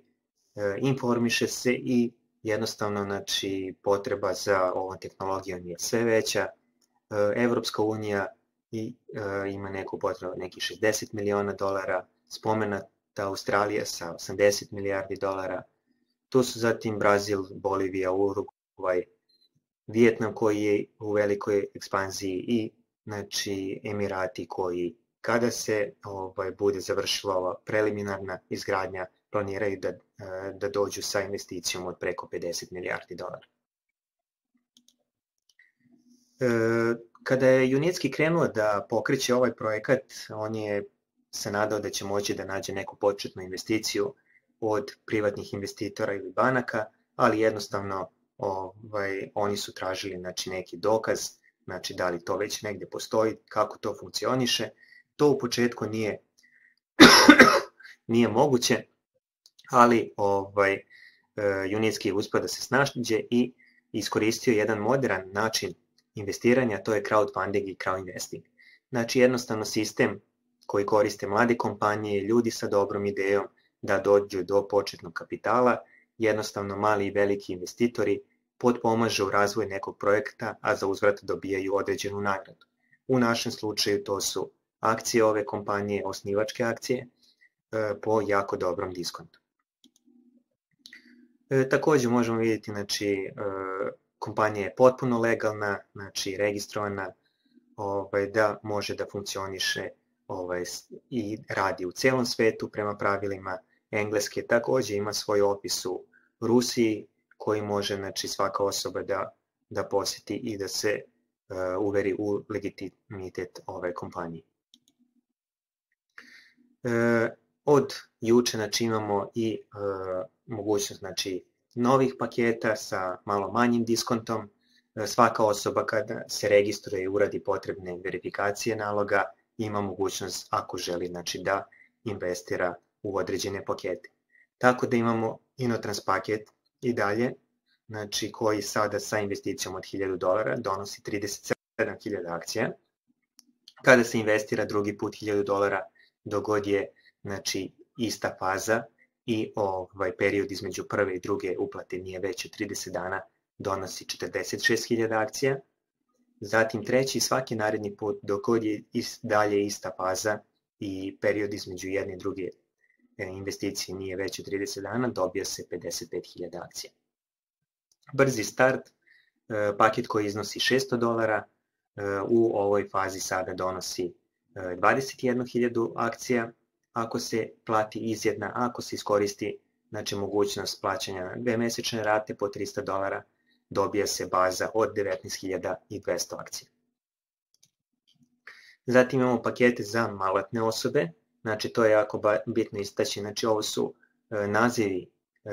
e, informiše se i jednostavno znači, potreba za ovom tehnologijom je sve veća. E, Evropska unija i e, ima neku potrebu nekih šezdeset miliona dolara, spomenuta Australija sa osamdeset milijardi dolara, tu su zatim Brazil, Bolivija, Urugvaj, Vijetnam koji je u velikoj ekspanziji i znači, Emirati koji kada se ovaj, bude završila ova preliminarna izgradnja planiraju da, da dođu sa investicijom od preko pedeset milijardi dolara. E, Kada je Junitski krenuo da pokreće ovaj projekat, on je se nadao da će moći da nađe neku početnu investiciju od privatnih investitora ili banaka, ali jednostavno ovaj, oni su tražili znači, neki dokaz, znači da li to već negde postoji, kako to funkcioniše. To u početku nije, nije moguće, ali ovaj, Junitski je uspio da se snađe i iskoristio jedan modern način investiranja, to je crowdfunding i crowdinvesting. Znači jednostavno sistem koji koriste mlade kompanije, ljudi sa dobrom idejom da dođu do početnog kapitala, jednostavno mali i veliki investitori potpomažu u razvoju nekog projekta, a za uzvrat dobijaju određenu nagradu. U našem slučaju to su akcije ove kompanije, osnivačke akcije, po jako dobrom diskontu. E, takođe možemo vidjeti, znači, e, kompanija je potpuno legalna, znači registrovana, ovaj, da može da funkcioniše ovaj, i radi u celom svetu prema pravilima Engleske. Takođe ima svoj opis u Rusiji koji može znači, svaka osoba da, da poseti i da se uh, uveri u legitimitet ove kompanije. Od juče znači, imamo i mogućnost znači, novih paketa sa malo manjim diskontom. Svaka osoba kada se registruje i uradi potrebne verifikacije naloga ima mogućnost ako želi znači, da investira u određene pakete. Tako da imamo Inotrans paket i dalje, znači, koji sada sa investicijom od hiljadu dolara donosi trideset sedam hiljada akcija. Kada se investira drugi put hiljadu dolara, dogod je znači, ista faza i ovaj period između prve i druge uplate nije veće trideset dana, donosi četrdeset šest hiljada akcija. Zatim treći, svaki naredni put, dogod je dalje ista faza i period između jedne i druge investicije nije veće trideset dana, dobija se pedeset pet hiljada akcija. Brzi start, paket koji iznosi šesto dolara, u ovoj fazi sada donosi dvadeset jednu hiljadu akcija, ako se plati izjedna, ako se iskoristi znači, mogućnost plaćanja na dve mesečne rate po trista dolara, dobija se baza od devetnaest hiljada dvesta akcija. Zatim imamo pakete za maloletne osobe, znači to je jako bitno istaći, znači ovo su nazivi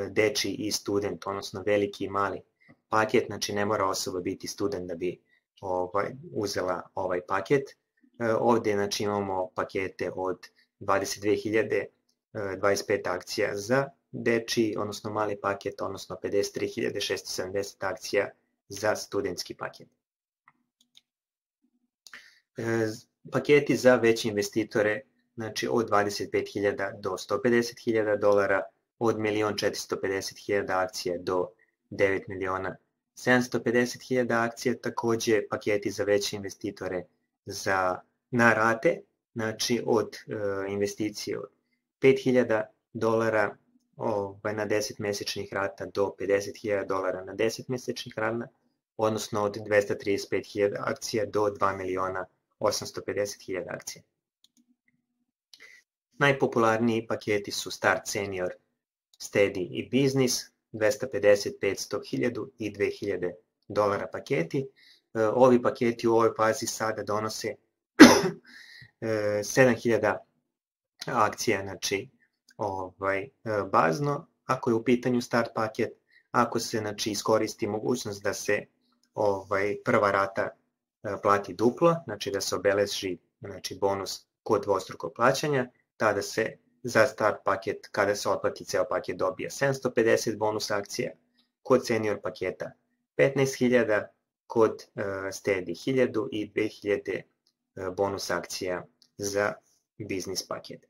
dečiji i student, odnosno veliki i mali paket, znači ne mora osoba biti student da bi ovaj, uzela ovaj paket. Ovde znači, imamo pakete od dvadeset dve hiljade dvadeset pet akcija za dečiji, odnosno mali paket, odnosno pedeset tri hiljade šesto sedamdeset akcija za studentski paket. Paketi za veće investitore, znači od dvadeset pet hiljada do sto pedeset hiljada dolara, od milion četiristo pedeset hiljada akcija do devet miliona sedamsto pedeset hiljada akcija, takođe paketi za veće investitore za, na rate, znači od e, investicije od pet hiljada dolara ovaj, na deset mesečnih rata do pedeset hiljada dolara na deset mesečnih rata, odnosno od dvesta trideset pet hiljada akcija do dva miliona osamsto pedeset hiljada akcija. Najpopularniji paketi su Start, Senior, Steady i Business, dvesta pedeset, petsto, hiljadu i dve hiljade dolara paketi. Ovi paketi u ovoj fazi sada donose sedam hiljada akcija, znači ovaj, bazno, ako je u pitanju start paket, ako se znači, iskoristi mogućnost da se ovaj, prva rata plati duplo, znači da se obeleži znači, bonus kod dvostrukog plaćanja, tada se za start paket, kada se otplati ceo paket, dobija sedamsto pedeset bonus akcija, kod senior paketa petnaest hiljada, kod uh, Steady hiljadu i dve hiljade uh, bonus akcija za biznis paket.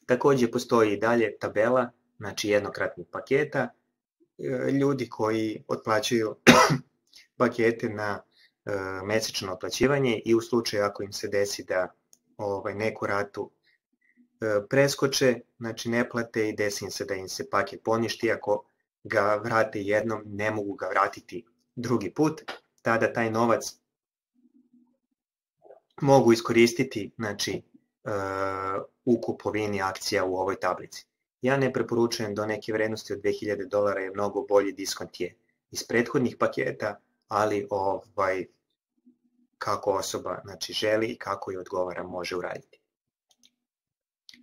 Takođe postoji i dalje tabela, znači jednokratnih paketa, uh, ljudi koji otplaćuju pakete na uh, mesečno otplaćivanje i u slučaju ako im se desi da ovaj, neku ratu preskoče, znači ne plate i desi im se da im se paket poništi, ako ga vrate jednom, ne mogu ga vratiti drugi put, tada taj novac mogu iskoristiti znači, u kupovini akcija u ovoj tablici. Ja ne preporučujem do neke vrednosti od dve hiljade dolara, je mnogo bolji diskont je iz prethodnih paketa, ali ovaj, kako osoba znači, želi i kako je odgovara može uraditi.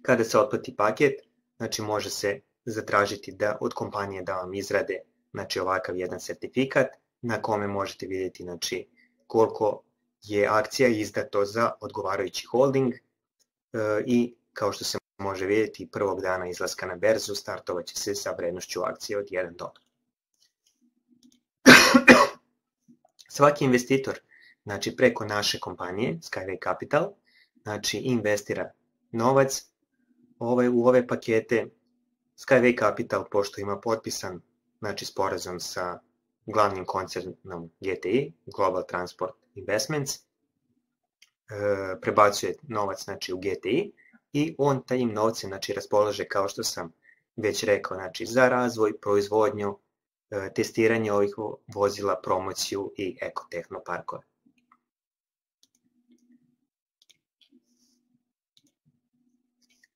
Kada se otplati paket, znači može se zatražiti da od kompanije da vam izrade znači ovakav jedan sertifikat na kome možete vidjeti znači koliko je akcija izdato za odgovarajući holding e, i kao što se može vidjeti prvog dana izlaska na berzu startovaće se sa vrednošću akcije od jedan dolar. Svaki investitor znači preko naše kompanije Skyway Capital znači investira novac Ovaj, u ove pakete. Skyway Capital, pošto ima potpisan znači, sporazum sa glavnim koncernom G T I, Global Transport Investments, e, prebacuje novac znači, u G T I i on tajim novcem znači, raspolaže, kao što sam već rekao, znači, za razvoj, proizvodnju, e, testiranje ovih vozila, promociju i ekotehnoparkove.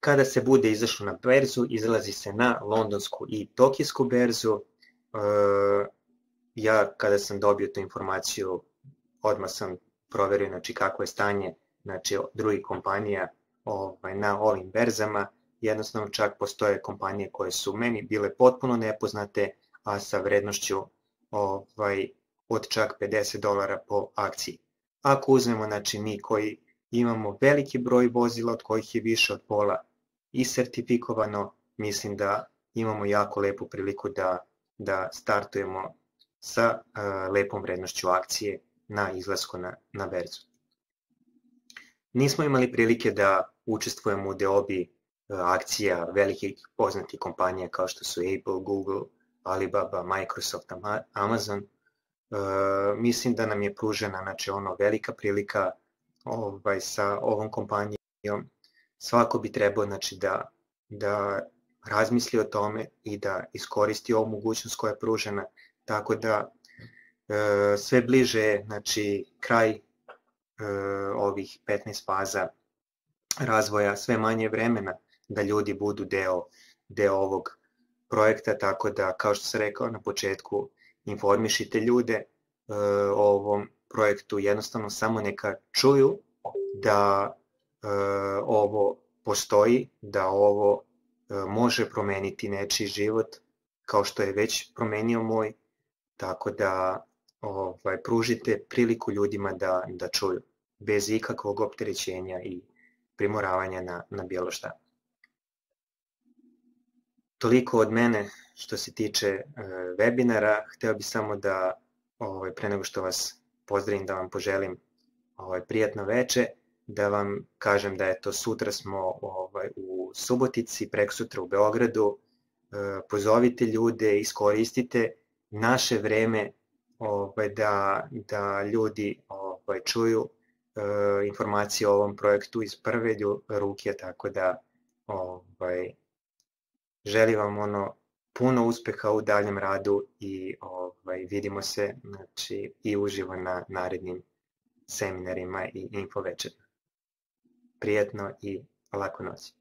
Kada se bude izašlo na berzu, izlazi se na londonsku i tokijsku berzu. Ja kada sam dobio tu informaciju, odmah sam proverio znači, kako je stanje znači, drugih kompanija ovaj, na ovim berzama. Jednostavno čak postoje kompanije koje su meni bile potpuno nepoznate, a sa vrednošću ovaj, od čak pedeset dolara po akciji. Ako uzmemo, znači mi koji imamo veliki broj vozila od kojih je više od pola i sertifikovano, mislim da imamo jako lepu priliku da, da startujemo sa uh, lepom vrednošću akcije na izlasku na, na berzu. Nismo imali prilike da učestvujemo u deobi uh, akcija velikih poznatih kompanija kao što su Apple, Google, Alibaba, Microsoft, Amazon. Uh, mislim da nam je pružena, znači, ono, velika prilika ovaj, sa ovom kompanijom. Svako bi trebao, znači, da, da razmisli o tome i da iskoristi ovu mogućnost koja je pružena, tako da e, sve bliže, znači, kraj e, ovih petnaest faza razvoja, sve manje vremena da ljudi budu deo, deo ovog projekta, tako da, kao što sam rekao na početku, informišite ljude e, o ovom projektu, jednostavno samo neka čuju da e, ovo postoji, da ovo e, može promeniti nečiji život, kao što je već promenio moj, tako da ovaj, pružite priliku ljudima da, da čuju, bez ikakvog opterećenja i primoravanja na, na bilo šta. Toliko od mene što se tiče e, webinara. Hteo bih samo da, ovaj, pre nego što vas pozdravim, da vam poželim ovaj, prijatno veče, da vam kažem da eto, sutra smo ovaj, u Subotici, prekosutra u Beogradu. E, pozovite ljude, iskoristite naše vreme ovaj, da, da ljudi ovaj, čuju e, informacije o ovom projektu iz prve ruke, tako da ovaj, želim vam ono puno uspeha u daljem radu i ovaj, vidimo se, znači, i uživo na narednim seminarima i info večerima. Prijetno i laku noć.